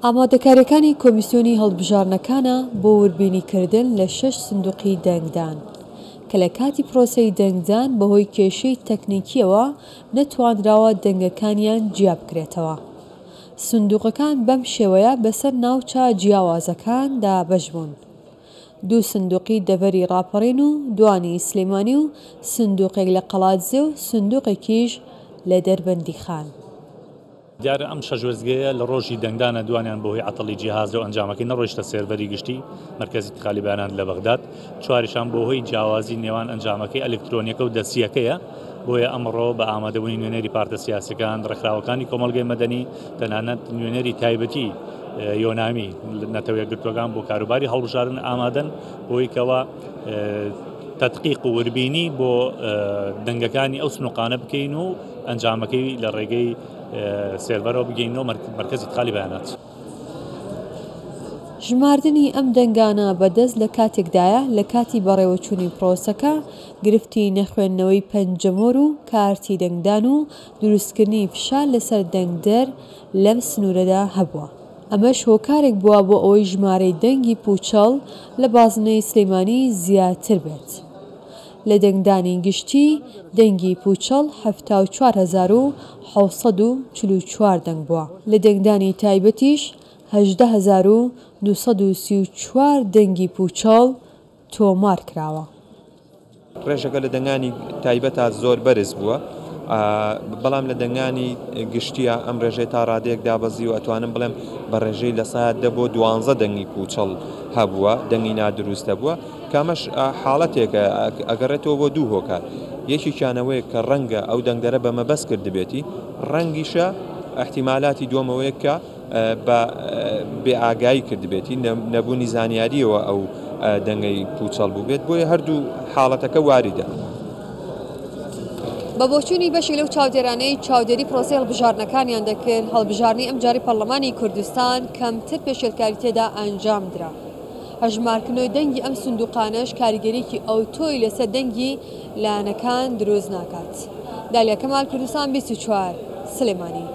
ئامادەکارییەکانی کۆمیسیۆنی هەڵبژاردنەکانە بۆ وردبینیکردن لە شەش سندوقی دەنگدان، کە لە کاتی پرۆسەی دەنگدان بەهۆی کێشەی تەکنیکییەوە نەتوانراوە دەنگەکانیان جیابکرێتەوە. سندوقەکان بەم شێوەیە بەسەر ناوچە جیاوازەکان دابەش بوون. دوو سندوقی دەڤەری ڕاپەڕین و دوانی سلێمانی و سندوقێک لە قەڵادزێ و سندوقێکیش لە دەربەندیخان. دیارە ئەم شەش وێستگەیە لە ڕۆژی دەنگدانە دوانیان بەهۆی عەتەڵی جیهازەوە ئەنجامەکەی نەڕۆیشتە سێرڤەری گشتی مەرکەزی ئیتخالی بەیانات لە بەغداد، چواریشان بەهۆی جیاوازی نێوان ئەنجامەکەی ئەلکترۆنیەکە و دەستییەکەیە، بۆیە ئەمڕۆ بە ئامادەبوونی نوێنەری پارتە سیاسیەکان، ڕێکخراوەکانی کۆمەڵگەی مەدەنی، تەنانەت نوێنەری تایبەتی یۆنامی نەتەوە یەکگرتووەکان بۆ کاروباری هەڵبژاردن ئامادەن بۆی کەوا تەدقیق و وربینی بۆ دەنگەکانی ئەو سنوقانە بکەین و ئەنجامەکەی لە ڕێگەی سێرڤەرەوە بگەینەوە مەرکەزی ئیدخالی بەیانات. ژماردنی ئەم دەنگانە بە دەست لە کاتێکدایە لە کاتی بەڕێوەچوونی پرۆسەکە گرفتی نەخوێندنەوەی پەنجەمۆر و کارتی دەنگدان و دروستکردنی فشار لەسەر دەنگدەر لەم سنوورەدا هەبووە، ئەمەش هۆکارێک بووە بۆ ئەوەی ژمارەی دەنگی پووچەڵ لە بازنەی سلێمانی زیاتر بێت. لە دەنگدانی گشتی دەنگی پووچەڵ 74744 دەنگ بووە، لە دەنگدانی تایبەتیش 18234 دەنگی پووچەڵ تۆمار کراوە. ڕێژەکە لە دەنگانی تایبەتا زۆر بەرز بووە، بەڵام لە دەنگانی گشتیە ئەم ڕێژەی تا ڕادەیەک دابەزیوە، ئەتوانم بڵێم بە ڕێژەی لە سەدا دە بۆ دوانزە دەنگی پووچەڵ هەبووە، دەنگی نادروست هەبووە، کە ئەمەش حاڵەتێکە ئەگەڕێتەوە بۆ دوو هۆکار، یەکێکیان ئەوەیە کە ڕەنگە ئەو دەنگدەرە بە مەبەست کردبێتی، ڕەنگیشە ئیحتیمالاتی دووەم ئەوەیە کە بە بێ ئاگایی کردبێتی، نەبوونی زانیارییەوە ئەو دەنگەی پووچەڵ بووبێت، بۆیە هەردوو حاڵەتەکە واریدە. بە بۆچوونی بەشێک لەو چاودێرانەی چاودێری پرۆسەی هەڵبژاردنەکانیان دەکرد، هەڵبژاردنی ئەمجارەی پەرلەمانی کوردستان کەمتر پێشێلکاری تێدا ئەنجامدرا. هەژمارکردنەوەی دەنگی ئەم سندوقانەش کاریگەریەکی ئەوتۆی لەسەر دەنگی لایەنەکان دروست ناکات. دالیا کەمال، کوردستان 24، سلێمانی.